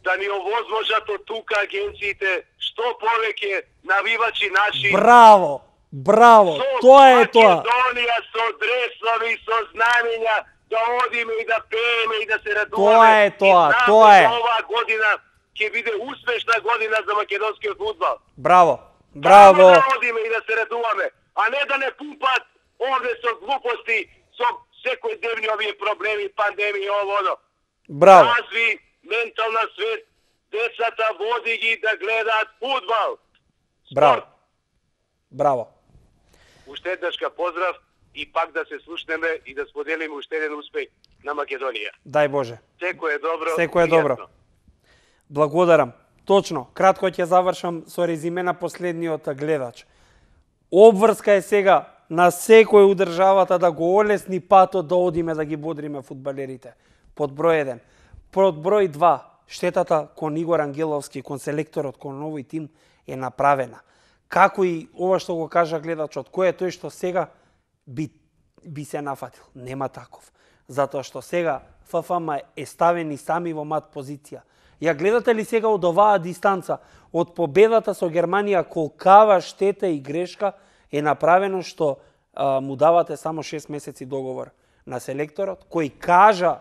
да ни овозможат од тука агенциите што повеќе навивачи наши. Браво! Браво! Тоа е тоа. Со Македонија, со дресови, со знамења, да одиме и да пееме и да се радуваме. Тоа е тоа, тоа е. Оваа година ќе биде успешна година за македонскиот фудбал. Браво! Браво! Да одиме и да се радуваме, а не да не пумпат овде со глупости, со секојдневни овие проблеми, пандемија, ово. Браво! Разви ментална свест, децата води ги да гледаат фудбал. Браво! Браво! Уште еднашка поздрав и пак да се слушнеме и да споделиме уште еден успех на Македонија. Дај Боже. Секој е добро. Секој е добро. Благодарам. Точно, кратко ќе завршам со резиме на последниот гледач. Обврска е сега на секој у државата да го олесни патот да одиме да ги бодриме фудбалерите. Под број 1. Под број 2, штетата кон Игор Ангеловски, кон селекторот, кон нови тим е направена. Како и ова што го кажа гледачот, кој е тој што сега би се нафатил? Нема таков. Затоа што сега ФФМ е ставени сами во мат позиција. Ја гледате ли сега од оваа дистанца, од победата со Германија, колкава штета и грешка е направено што му давате само 6 месеци договор на селекторот, кој кажа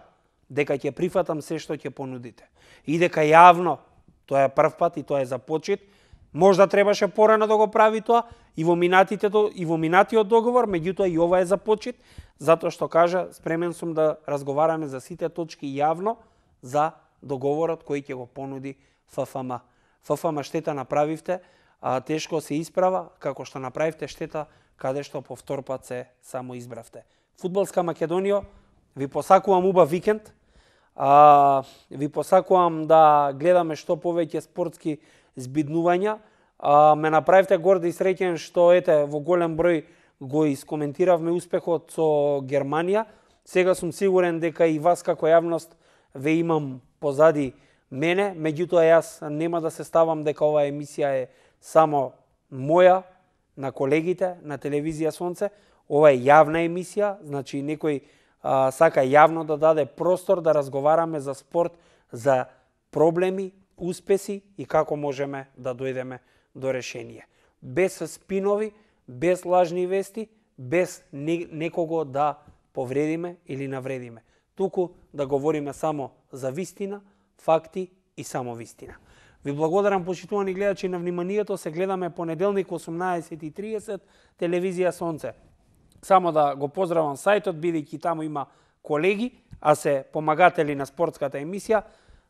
дека ќе прифатам се што ќе понудите. И дека јавно, тоа е прв пат и тоа е за почет, можда требаше порано да го прави тоа и во минатиот договор, меѓутоа и ова е за почет, затоа што кажа спремен сум да разговараме за сите точки јавно за договорот кој ќе го понуди ФФМ. ФФМ штета направивте, тешко се исправа, како што направивте штета каде што по втор пат се само избравте. Фудбалска Македонија, ви посакувам убав викенд. Ви посакувам да гледаме што повеќе спортски збиднувања. Ме направивте горд и среќен што во голем број го искоментиравме успехот со Германија. Сега сум сигурен дека и вас како јавност ве имам позади мене, меѓутоа јас нема да се ставам дека оваа емисија е само моја, на колегите на телевизија Сонце. Ова е јавна емисија, значи некој сака јавно да даде простор да разговараме за спорт, за проблеми, успеси и како можеме да дојдеме до решение. Без спинови, без лажни вести, без некого да повредиме или навредиме. Туку да говориме само за вистина, факти и само вистина. Ви благодарам, почитувани гледачи, на вниманието. Се гледаме понеделник 18:30, телевизија Сонце. Само да го поздравам сајтот, бидејќи таму има колеги, а се помагатели на спортската емисија.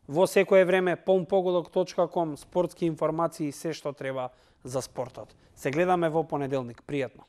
Во секое време polnpogodak.com, спортски информации, се што треба за спортот. Се гледаме во понеделник. Пријатно.